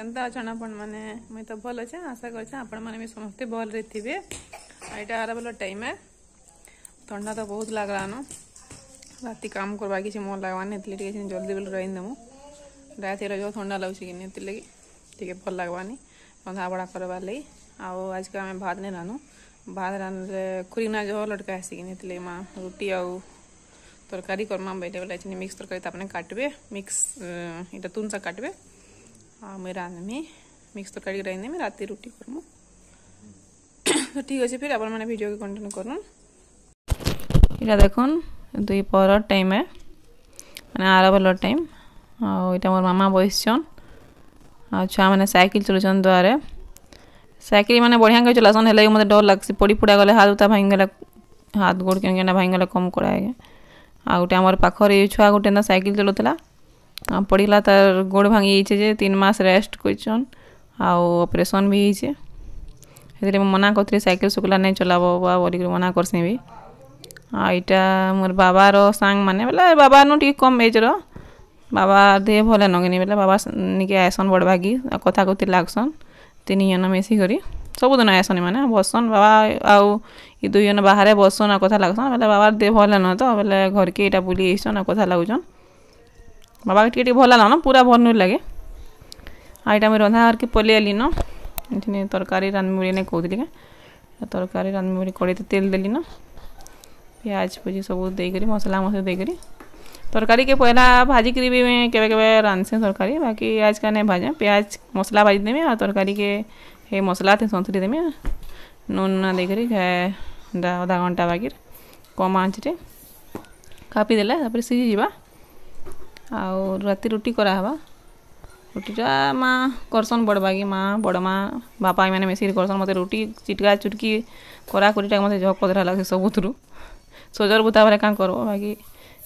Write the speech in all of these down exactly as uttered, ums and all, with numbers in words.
କେନ୍ତା ଅଛନ୍ ଆପଣମାନେ? ମୁଇଁ ତ ଭଲ ଅଛେ। ଆଶା କରୁଛେ ଆପଣମାନେ ବି ସମସ୍ତେ ଭଲରେ ଥିବେ। ଆଉ ଏଇଟା ଆର ବେଲ ଟାଇମ୍ ଏ, ଥଣ୍ଡା ତ ବହୁତ ଲାଗଲାନ। ରାତି କାମ କରବା କିଛି ମନ ଲାଗବାନି, ହେଥିଲାଗି ଟିକେ ଜଲ୍ଦି ବେଲ ରାନ୍ଧି ଦେମୁ। ରାତି ହେଲେ ଯୋଉ ଥଣ୍ଡା ଲାଗୁଛି କି ହେଥିଲାଗି ଟିକେ ଭଲ ଲାଗବାନି ରନ୍ଧା ବଢ଼ା କରବାର୍ ଲାଗି। ଆଉ ଆଜକା ଆମେ ଭାତ ନାଇଁ ରାନ୍ଧୁ। ଭାତ ରାନ୍ଧଲେ ଖୁରିନା ଜହ ଲଟକା ଆସିକିନି, ହେଥିଲାଗି ମା ରୁଟି ଆଉ ତରକାରୀ କର୍ମା ବେଲେ ବେଲେ ଚିନି ମିକ୍ସ ତରକାରୀ ତାପରେ କାଟବେ, ମିକ୍ସ ଏଇଟା ତୁନ ଶାଗ କାଟବେ ଆଉ ମୁଇଁ ରାନ୍ଧମି। ମିକ୍ସ ତରକାରୀ ରାନ୍ଧିଦେମି, ରାତି ରୁଟି କର୍ମୁ। ତ ଠିକ୍ ଅଛି, ଫିର୍ ଆପଣମାନେ ଭିଡ଼ିଓକେ କଣ୍ଟିନ୍ୟୁ କରୁନ୍। ଏଇଟା ଦେଖୁନ୍, ଦୁଇ ପହର ଟାଇମ୍ ଏ, ମାନେ ଆର ବେଲର ଟାଇମ୍। ଆଉ ଏଇଟା ମୋର୍ ମାମା ବସିଛନ୍ ଆଉ ଛୁଆମାନେ ସାଇକେଲ ଚଲଉଛନ୍ ଦୁଆରେ। ସାଇକେଲ ମାନେ ବଢ଼ିଆ କରି ଚଲାସନ୍, ହେଲେ ମୋତେ ଡର ଲାଗ୍ସି। ପଡ଼ି ପୁଡ଼ା ଗଲେ, ହାତ ଉତା ଭାଙ୍ଗିଗଲେ, ହାତ ଗୋଡ଼ କେନ୍ କେନ୍ଟା ଭାଙ୍ଗିଗଲେ କମ୍ କଡ଼ା ଆଜ୍ଞା। ଆଉ ଗୋଟେ ଆମର ପାଖରେ ଛୁଆ ଗୋଟେ ଏନ୍ତା ସାଇକେଲ ଚଲାଉଥିଲା, ପଡ଼ିଗଲା, ତାର ଗୋଡ଼ ଭାଙ୍ଗି ଯାଇଛେ ଯେ ତିନି ମାସ ରେଷ୍ଟ କରିଛନ୍ ଆଉ ଅପରେସନ୍ ବି ହେଇଛେ। ସେଥିରେ ମୁଁ ମନା କରିଥିଲି, ସାଇକେଲ ସୁକୁଲା ନାଇଁ ଚଲାବ ବା ବୋଲିକରି ମନା କରସି ବି। ଆଉ ଏଇଟା ମୋର୍ ବାବାର ସାଙ୍ଗମାନେ, ବେଲେ ବାବାନୁ ଟିକେ କମ୍ ଏଜ୍ର। ବାବା ଦେହ ଭଲ ନଗିନି ବେଲେ ବାବା ନିକେ ଆଏସନ୍ ବଡ଼ ଭାଗି ଆଉ କଥା କଥି ଲାଗ୍ସନ୍। ତିନି ଜଣ ମିଶିକରି ସବୁଦିନ ଆଏସନ୍, ଏମାନେ ବସନ୍। ବାବା ଆଉ ଇ ଦୁଇ ଜଣ ବାହାରେ ବସନ୍ ଆଉ କଥା ଲାଗ୍ସନ୍। ବେଲେ ବାବାର ଦେହ ଭଲ ନ ତ ବେଲେ ଘରକେ ଏଇଟା ବୁଲି ଆଇସନ୍ ଆଉ କଥା ଲାଗୁଛନ୍। ବାବାକେ ଟିକେ ଟିକେ ଭଲ ଲାଗନ, ପୁରା ଭଲ ନୁଇଁ ଲାଗେ। ଆଉ ଏଇଟା ମୁଇଁ ରନ୍ଧା ଘରକେ ପଲେଇ ଆଇଲିନ। ଏଠିନି ତରକାରୀ ରାନ୍ଧମି ବୋଲି ନାଇଁ କହୁଥିଲି କେଁ, ତରକାରୀ ରାନ୍ଧମି ବୋଲି କଡ଼େଇতে ତେଲ ଦେଲିନ, ପିଆଜ ପୁଜି ସବୁ ଦେଇକରି, ମସଲା ମସଲି ଦେଇକରି ତରକାରୀକେ ପହିଲା ଭାଜିକିରି ବି କେବେ କେବେ ରାନ୍ଧସି ତରକାରୀ। ବାକି ଆଜକା ନାଇଁ ଭାଜେ। ପିଆଜ ମସଲା ଭାଜି ଦେମି ଆଉ ତରକାରୀକେ ହେ ମସଲାଥି ସନ୍ତୁଳି ଦେମି, ନୁନ୍ ନୁନା ଦେଇକରି ଅଧା ଘଣ୍ଟା ବାଗିର କମ୍ ଆଞ୍ଚରେ କାପି ଦେଲେ ତାପରେ ସିଝିଯିବା। ଆଉ ରାତି ରୁଟି କରାହେବା। ରୁଟିଟା ମା କରସନ୍, ବଡ଼ ବାଗି ମା, ବଡ଼ ମା, ବାପା ଏମାନେ ମିଶିକିରି କରସନ୍। ମୋତେ ରୁଟି ଚିଟକା ଚୁଟକି କରାକୁରିଟା ମୋତେ ଜହ କଦରା ଲାଗ୍ସି ସବୁଥିରୁ। ସଜର ବୁତା ବେଲେ କାଁ କରବ, ବାକି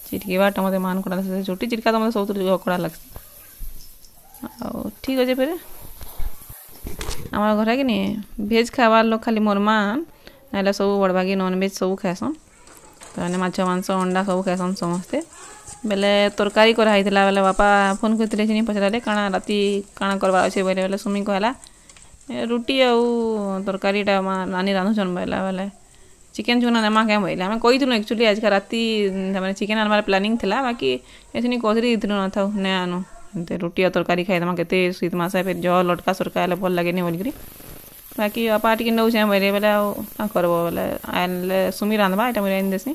ଚିଟକିବାଟା ମୋତେ ମାନ କଡ଼ା ଲାଗ୍ସି। ରୁଟି ଚିଟକା ତ ମୋତେ ସବୁଥିରୁ ଜହ କଡ଼ା ଲାଗ୍ସି। ଆଉ ଠିକ୍ ଅଛେ, ଫେରେ ଆମର ଘରେ କି ନି ଭେଜ୍ ଖାଇବାର୍ ଲୋକ ଖାଲି ମୋର୍ ମା, ନାଇଁଲେ ସବୁ ବଡ଼ ବାଗି ନନ୍ଭେଜ୍ ସବୁ ଖାଏସନ୍। ତାମାନେ ମାଛ, ମାଂସ, ଅଣ୍ଡା ସବୁ ଖାଏସନ୍ ସମସ୍ତେ। ବେଲେ ତରକାରୀ କରା ହେଇଥିଲା ବେଲେ ବାପା ଫୋନ୍ କରିଥିଲେ, ଚିନି ପଚରାଲେ କାଣା ରାତି କାଣା କରବାର୍ ଅଛେ ବୋଇଲେ। ବେଲେ ସୁମି କହେଲା ରୁଟି ଆଉ ତରକାରୀଟା ମା ନାନୀ ରାନ୍ଧୁଛନ୍ ବୋଇଲା। ବେଲେ ଚିକେନ୍ ଚୁନା ନେମା କେଁ ବୋଇଲେ। ଆମେ କହିଥିଲୁ ଆକ୍ଚୁଆଲି ଆଜିକା ରାତି ମାନେ ଚିକେନ୍ ଆନବାର ପ୍ଲାନିଂ ଥିଲା, ବାକି ଏଥିନି କହୁଥିଲି ଦେଇଥିଲୁ, ନଥାଉ, ନାଇଁ ଆନୁ, ଏମିତି ରୁଟି ଆଉ ତରକାରୀ ଖାଇଦେମା, କେତେ ଶୀତ ମାସେ ଫେର୍ ଜହ ଲଟକା ସରକା ହେଲେ ଭଲ ଲାଗେନି ବୋଲିକିରି। ବାକି ବାପା ଟିକେ ନଉଛେଁ ବୋଇଲେ, ବେଲେ ଆଉ କାଁ କରବ? ବେଲେ ଆଣିଲେ ସୁମି ରାନ୍ଧବା, ଏଇଟା ମୁଇଁ ରାନ୍ଧି ଦେସି।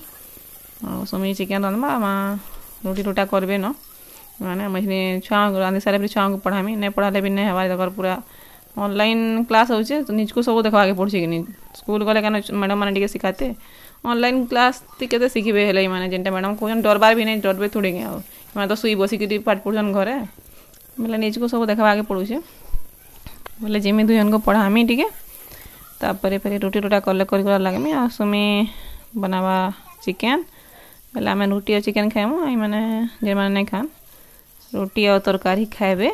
ଆଉ ସୁମି ଚିକେନ୍ ରାନ୍ଧବା, ମା ରୁଟି ରୁଟା କରବେ ନ। ମାନେ ମୁଇଁ ଛୁଆଙ୍କୁ ରାନ୍ଧି ସାରିଲା ପରେ ଛୁଆଙ୍କୁ ପଢ଼ାମି। ନାଇଁ ପଢ଼ାଲେ ବି ନାଇଁ ହେବା। ତାଙ୍କର ପୁରା ଅନଲାଇନ୍ କ୍ଲାସ୍ ହଉଛେ, ନିଜକୁ ସବୁ ଦେଖବାକେ ପଡ଼ୁଛେ କି ନି। ସ୍କୁଲ୍ ଗଲେ କେନ ମ୍ୟାଡ଼ାମ୍ ମାନେ ଟିକେ ଶିଖାତେ, ଅନଲାଇନ୍ କ୍ଲାସ୍ ତି କେତେ ଶିଖିବେ? ହେଲେ ଏମାନେ ଯେନ୍ଟା ମ୍ୟାଡ଼ାମ୍ କହୁଛନ୍, ଡରବାର୍ ବି ନାଇଁ, ଡରବେ ଥୋଡ଼ି କି? ଆଉ ଏମାନେ ତ ଶୁଇ ବସିକିରି ପାଠ ପଢ଼ୁଛନ୍ ଘରେ। ବେଲେ ନିଜକୁ ସବୁ ଦେଖବାକେ ପଡ଼ୁଛେ। ବୋଲେ ଯେମି ଦୁଇ ଜଣକୁ ପଢ଼ାମି ଟିକେ, ତାପରେ ଫେର୍ ରୁଟି ରୁଟା କଲେ କରି କରି ଲାଗମି। ଆଉ ସୁମି ବନାବା ଚିକେନ୍, ବେଲେ ଆମେ ରୁଟି ଆଉ ଚିକେନ୍ ଖାଇମୁ। ଏମାନେ ଯେମାନେ ନାଇଁ ଖାନ୍, ରୁଟି ଆଉ ତରକାରୀ ଖାଇବେ।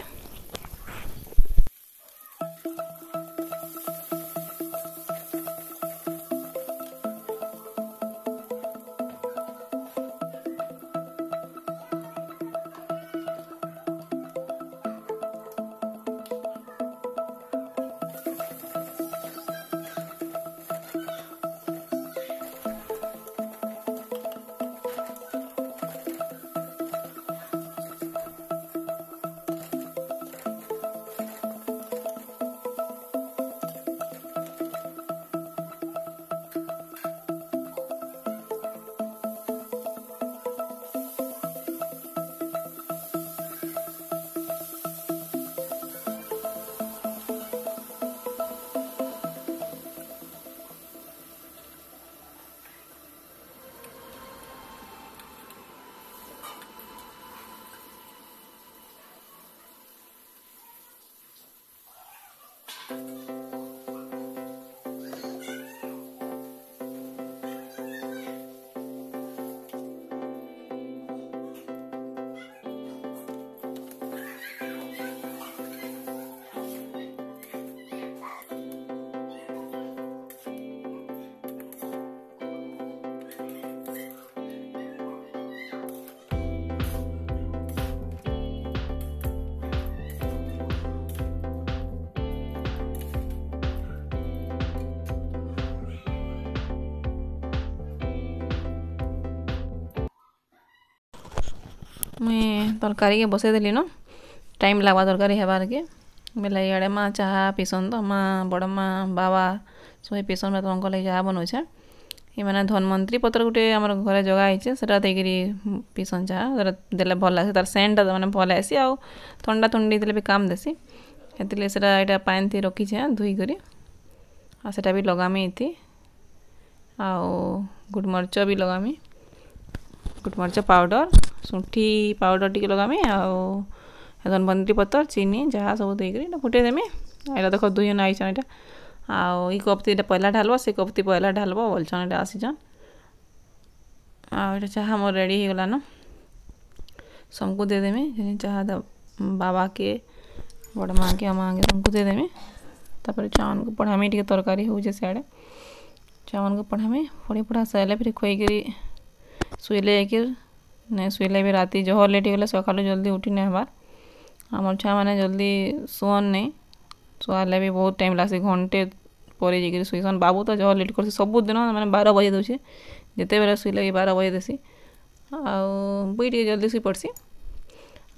ମୁଇଁ ତରକାରୀକେ ବସେଇଦେଲି ନ ଟାଇମ୍ ଲାଗ୍ବା ତରକାରୀ ହେବାର୍କେ ବେଲେ ଇଆଡ଼େ ମା ଚାହା ପିସନ୍ ତ ମା ବଡ଼ ମା ବାବା ସଭେ ପିସନ୍ ବେଲେ ତାଙ୍କର୍ ଲାଗି ଚାହା ବନଉଛେଁ ଏମାନେ ଧନ୍ୱନ୍ତରୀ ପତ୍ର ଗୋଟେ ଆମର ଘରେ ଜଗା ହେଇଛେ ସେଟା ଦେଇକିରି ପିସନ୍ ଚାହା ସେଟା ଦେଲେ ଭଲ୍ ଲାଗ୍ସି ତାର୍ ସେଣ୍ଟଟା ମାନେ ଭଲ୍ ଆଏସି ଆଉ ଥଣ୍ଡା ଥୁଣ୍ଡି ଦେଲେ ବି କାମ୍ ଦେସି ହେଥିର୍ଲାଗି ସେଟା ଏଇଟା ପାଏନ୍ଥି ରଖିଛେଁ ଧୁଇକରି ଆଉ ସେଟା ବି ଲଗାମି ଏଥି ଆଉ ଗୁଟମରିଚ ବି ଲଗାମି ଗୁଟମରିଚ ପାଉଡ଼ର ଶୁଣ୍ଠି ପାଉଡ଼ର ଟିକେ ଲଗାମି ଆଉ ଧନ୍ୱନ୍ତରୀ ପତର ଚିନି ଯାହା ସବୁ ଦେଇକରି ଏଇଟା ଫୁଟେଇ ଦେମି ଏଇଟା ଦେଖ ଦୁଇ ଜଣ ଆଇଛନ୍ ଏଇଟା ଆଉ ଇ କପ୍ ତି ଏଇଟା ପହିଲା ଢାଲବ ସେ କପ୍ ତି ପହିଲା ଢାଲବ ବୋଲଛନ୍ ଏଇଟା ଆସିଛନ୍ ଆଉ ଏଇଟା ଚାହା ମୋର ରେଡ଼ି ହେଇଗଲାନ ସମକୁ ଦେଇଦେମି ଚାହା ବାବାକେ ବଡ଼ ମାଆକେ ଆଉ ମାଆକେ ସମକୁ ଦେଇଦେମି ତାପରେ ଛୁଆମାନଙ୍କୁ ପଢ଼ାମି ଟିକେ ତରକାରୀ ହଉଛେ ସିଆଡ଼େ ଛୁଆମାନଙ୍କୁ ପଢ଼ାମି ପଢ଼ି ପଢ଼ା ସାରିଲେ ଫିର୍ ଖୁଏଇକିରି ଶୁଇଲେ ଯାଇକିରି ନାଇଁ ଶୁଇଲେ ବି ରାତି ଜହ ଲେଟ୍ ହେଇଗଲେ ସକାଳୁ ଜଲ୍ଦି ଉଠି ନାଇଁ ହେବାର୍ ଆମର୍ ଛୁଆମାନେ ଜଲ୍ଦି ଶୁଅନ୍ ନାଇଁ ଶୁଆଲେ ବି ବହୁତ ଟାଇମ୍ ଲାଗ୍ସି ଘଣ୍ଟେ ପରେ ଯାଇକିରି ଶୁଇସନ୍ ବାବୁ ତ ଜହ ଲେଟ୍ କର୍ସି ସବୁଦିନ ମାନେ ବାର ବଜେଇ ଦଉଛେ ଯେତେବେଲେ ଶୁଇଲେ ବି ବାର ବଜେଇ ଦେସି ଆଉ ମୁଇଁ ଟିକେ ଜଲ୍ଦି ଶୁଇ ପଡ଼୍ସି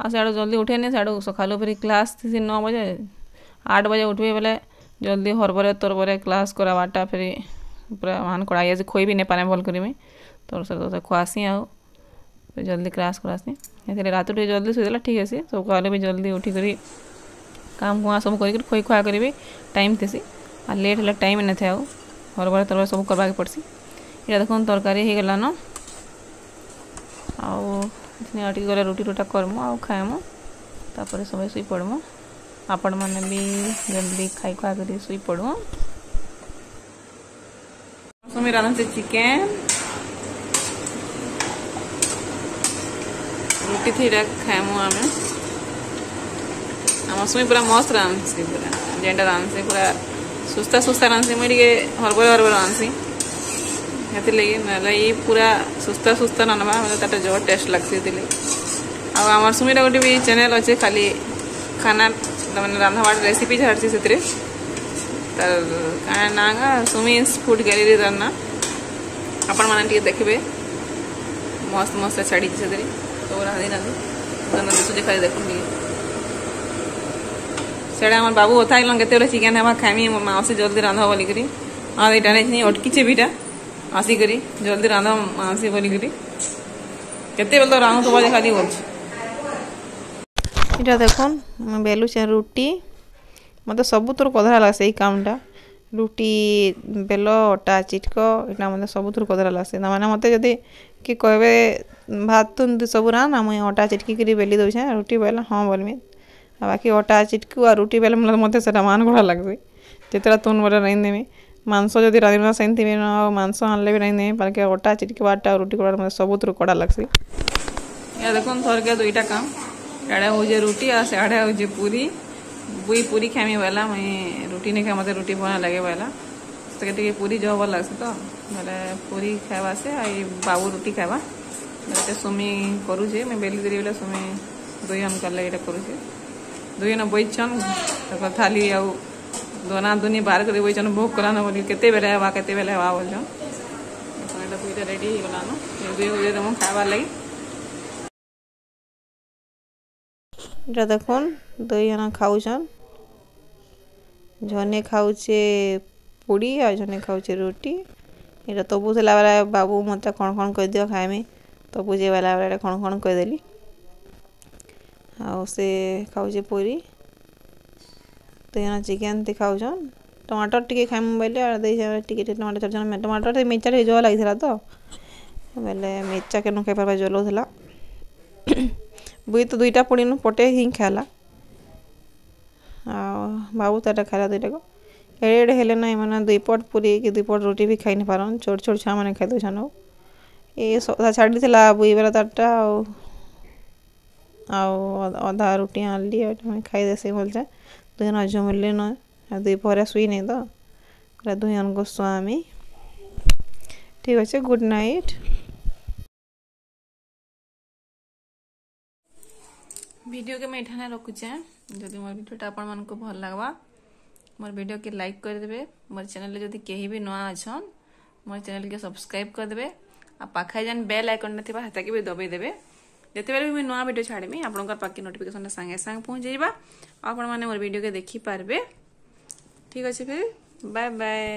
ଆଉ ସିଆଡ଼ୁ ଜଲ୍ଦି ଉଠେନି ସିଆଡ଼ୁ ସକାଳୁ ଫେରି କ୍ଲାସ୍ ଥିସି ନଅ ବଜେ ଆଠ ବଜେ ଉଠ୍ବି ବେଲେ ଜଲ୍ଦି ହରବରେ ତରବରେ କ୍ଲାସ୍ କରାବାର୍ଟା ଫେରି ପୁରା ମାନ କଡ଼ା ହେଇଯାସି ଖୋଇ ବି ନାଇଁ ପାରେ ଭଲ୍ କରି ମୁଇଁ ତୋର ସହିତ ଖୁଆସି ଆଉ ଜଲ୍ଦି କ୍ଲାସ୍ କରାସି ଏଥିରେ ରାତି ଟିକେ ଜଲ୍ଦି ଶୋଇଦେଲେ ଠିକ୍ ହେସି ସକାଳୁ ବି ଜଲ୍ଦି ଉଠିକରି କାମ କୁଆଁ ସବୁ କରିକିରି ଖୋଇ ଖୁଆ କରି ବି ଟାଇମ୍ ଥିସି ଆଉ ଲେଟ୍ ହେଲେ ଟାଇମ୍ ନାଇଥାଏ ଆଉ ହରବର ତରବର ସବୁ କରବାକେ ପଡ଼୍ସି ଏଇଟା ଦେଖୁନ୍ ତରକାରୀ ହେଇଗଲାନ ଆଉ ଆଉ ଟିକେ ଗଲେ ରୁଟି ରୁଟା କର୍ମୁ ଆଉ ଖାଏମୁ ତାପରେ ସବେ ଶୋଇ ପଡ଼୍ମୁ ଆପଣମାନେ ବି ଜଲ୍ଦି ଖାଇ ଖୁଆ କରି ଶୋଇ ପଡ଼ୁ ସୁମି ରାନ୍ଧୁছে ଚିକେନ୍ ରୁଟି ଥିଟା ଖାଏମୁ ଆମେ ଆମ ସୁମି ପୁରା ମସ୍ତ ରାନ୍ଧସି ପୁରା ଯେନ୍ଟା ରାନ୍ଧସି ପୁରା ସୁସ୍ତା ସୁସ୍ତା ରାନ୍ଧସି ମୁଇଁ ଟିକେ ହରବର ହରବର ରାନ୍ଧସି ହେଥିର୍ଲାଗି ନହେଲେ ଇ ପୁରା ସୁସ୍ତା ସୁସ୍ତା ରାନ୍ଧବା ବେଲେ ତାଟା ଜବର ଟେଷ୍ଟ ଲାଗ୍ସି ହେଥିର୍ଲାଗି ଆଉ ଆମର୍ ସୁମିର ଗୋଟେ ବି ଚ୍ୟାନେଲ୍ ଅଛେ ଖାଲି ଖାନା ମାନେ ରାନ୍ଧବାର୍ ରେସିପି ଛାଡ଼୍ସି ସେଥିରେ ତାର କାଣା ନାଁ ଗା ସୁମିସ୍ ଫୁଡ୍ ଗ୍ୟାଲେରୀ ତାର ନାଁ ଆପଣମାନେ ଟିକେ ଦେଖିବେ ମସ୍ତ ମସ୍ତ ଛାଡ଼ିଛି ସେଥିରେ ସବୁ ରାନ୍ଧି ରାନ୍ଧି ଦିଶୁଛେ ଖାଲି ଦେଖୁନ୍ ଟିକେ ସେଟା আমার ବାବୁ କଥା ହେଇଗଲନ୍ କେତେବେଳେ ଚିକେନ୍ ହେବା ଖାଇମି ମୋ ମାଉସୀ ଜଲ୍ଦି ରାନ୍ଧ ବୋଲିକରି ଆଉ ଏଇଟା ନେଇଥିଲି ଅଟକିଛେ ବିଟା ଆସିକରି ଜଲ୍ଦି ରାନ୍ଧ ମାଉସୀ ବୋଲିକରି କେତେବେଳେ ତ ରାନ୍ଧୁଥିବ ଯେ ଖାଲି ବୋଲୁଛି ଏଇଟା ଦେଖୁନ୍ ମୁଇଁ ବେଲୁଛେଁ ରୁଟି ମତେ ସବୁଥିରୁ କଧରା ଲାଗ୍ସି ଏଇ କାମଟା ରୁଟି ବେଲ ଅଟା ଚିଟକ ଏଇଟା ମତେ ସବୁଥିରୁ କଧରା ଲାଗ୍ସି ତାମାନେ ମତେ ଯଦି କିଏ କହିବେ ଭାତ ତୁନ୍ ସବୁ ରାନ୍ଧ ମୁଇଁ ଅଟା ଚିଟକିକିରି ବେଲି ଦଉଛେଁ ରୁଟି ବେଲ ହଁ ବୋଲମି ଆଉ ବାକି ଅଟା ଚିଟକୁ ଆଉ ରୁଟି ବେଲେ ମତେ ସେଟା ମାନ ଲାଗ୍ସି ଯେତେଟା ତୁନ୍ ବେଲେ ରାନ୍ଧିଦେମି ମାଂସ ଯଦି ରାନ୍ଧିବା ସେମିତି ବି ଆଉ ମାଂସ ଆଣିଲେ ବି ରାନ୍ଧିଦେମି ବାକି ଅଟା ଚିଟକିବାରଟା ଆଉ ରୁଟି କରିବାଟା ମତେ ସବୁଥିରୁ କଡ଼ା ଲାଗ୍ସି ଇଆ ଦେଖୁନ୍ ଥରକେ ଦୁଇଟା କାମ ଇଆଡ଼େ ହଉଛେ ରୁଟି ଆଉ ସିଆଡ଼େ ହଉଛେ ପୁରୀ ବୁଇ ପୁରୀ ଖାଇମି ବୋଇଲା ମୁଇଁ ରୁଟି ନାଇଁ ଖାଏ ମତେ ରୁଟି ଭଲ ଲାଗେ ବୋଇଲା ସେକେ ଟିକେ ପୁରୀ ଜହ ଭଲ ଲାଗ୍ସି ତ ବେଲେ ପୁରୀ ଖାଇବା ସେ ଆଉ ବାବୁ ରୁଟି ଖାଇବା ବେଲେ ସୁମି କରୁଛେ ମୁଇଁ ବେଲି ଦେଲି ବେଲେ ସୁମି ଦୁଇ ଜଣ କଲେ ଏଇଟା କରୁଛେ ଦୁଇ ଜଣ ବଇଛନ୍ ତାଙ୍କର ଥାଲି ଆଉ ଦନା ଦୁନି ବାହାର କରି ବଇଛନ୍ ଭୋଗ କଲାନ ବୋଲି କେତେବେଲେ ହେବା କେତେବେଲେ ହେବା ବୋଲଛନ୍ ଏଇଟା ଦୁଇଟା ରେଡ଼ି ହେଇଗଲାନ ଦୁଇ ହଉଛେ ତମ ଖାଇବାର୍ ଲାଗି ଏଇଟା ଦେଖୁନ୍ ଦୁଇ ଜଣ ଖାଉଛନ୍ ଜନେ ଖାଉଛେ ପୁଡ଼ି ଆଉ ଜନେ ଖାଉଛେ ରୁଟି ଏଇଟା ତବୁ ଥିଲା ବେଲେ ବାବୁ ମତେ କଣ କଣ କହିଦିଅ ଖାଇମି ତବୁ ଯେ ବେଲା ବେଲେ କଣ କଣ କହିଦେଲି ଆଉ ସେ ଖାଉଛେ ପୁରୀ ଦୁଇ ଜଣ ଚିକେନ୍ ତି ଖାଉଛନ୍ ଟମାଟର ଟିକେ ଖାଇମୁ ବୋଇଲେ ଆଉ ଦେଇଛେ ଟିକେ ଟିକେ ଟମାଟର ଛାଡ଼ିଛନ୍ ଟମାଟର ଟିକେ ମିର୍ଚା ଟିକେ ଜହ ଲାଗିଥିଲା ତ ବେଲେ ମିର୍ଚା କେନୁ ଖାଇ ପାରବା ଜଲଉଥିଲା ବୁଇ ତ ଦୁଇଟା ପୁଡ଼ିନୁ ପଟେ ହିଁ ଖାଇଲା ଆଉ ବାବୁ ତାଟା ଖାଇଲା ଦୁଇଟାକୁ ଏଡ଼େ ଏଡ଼େ ହେଲେ ନାଇଁ ମାନେ ଦୁଇ ପଟ ପୁରୀ କି ଦୁଇ ପଟ ରୁଟି ବି ଖାଇ ନି ପାରନ୍ ଛୋଟ ଛୋଟ ଛୁଆମାନେ ଖାଇ ଦଉଛନ୍ ଆଉ ଏ ଅଧା ଛାଡ଼ିଥିଲା ବୁଇ ବେଲା ତାରଟା ଆଉ ଆଉ ଅଧା ରୁଟି ଆଣିଲି ଆଉ ଖାଇଦେସି ଭଲସେ ଦୁଇ ଜଣ ଝୁମିଲି ନ ଆଉ ଦୁଇ ପହରେ ଶୁଇନି ତ ପୁରା ଦୁଇ ଜଣକୁ ଶୁଆମି ଠିକ୍ ଅଛି ଗୁଡ୍ ନାଇଟ୍ ଭିଡ଼ିଓକେ ମୁଇଁ ଏଠାନେ ରଖୁଛେଁ ଯଦି ମୋର୍ ଭିଡ଼ିଓଟା ଆପଣମାନଙ୍କୁ ଭଲ ଲାଗ୍ବା ମୋର୍ ଭିଡ଼ିଓକେ ଲାଇକ୍ କରିଦେବେ ମୋର୍ ଚ୍ୟାନେଲ୍ରେ ଯଦି କେହି ବି ନୂଆ ଅଛନ୍ ମୋର୍ ଚ୍ୟାନେଲ୍କେ ସବସ୍କ୍ରାଇବ୍ କରିଦେବେ ଆଉ ପାଖେ ଯେନ୍ ବେଲ୍ ଆଇକନ୍ଟା ଥିବା ହେତାକେ ବି ଦବେଇ ଦେବେ ଯେତେବେଳେ ବି ମୁଇଁ ନୂଆ ଭିଡ଼ିଓ ଛାଡ଼ିମି, ଆପଣଙ୍କର ପାଖେ ନୋଟିଫିକେସନ୍ଟା ସାଙ୍ଗେ ସାଙ୍ଗେ ପହଞ୍ଚିଯିବା ଆଉ ଆପଣମାନେ ମୋର ଭିଡ଼ିଓକେ ଦେଖିପାରିବେ। ଠିକ୍ ଅଛି, ଫିର୍ ବାଏ ବାଏ।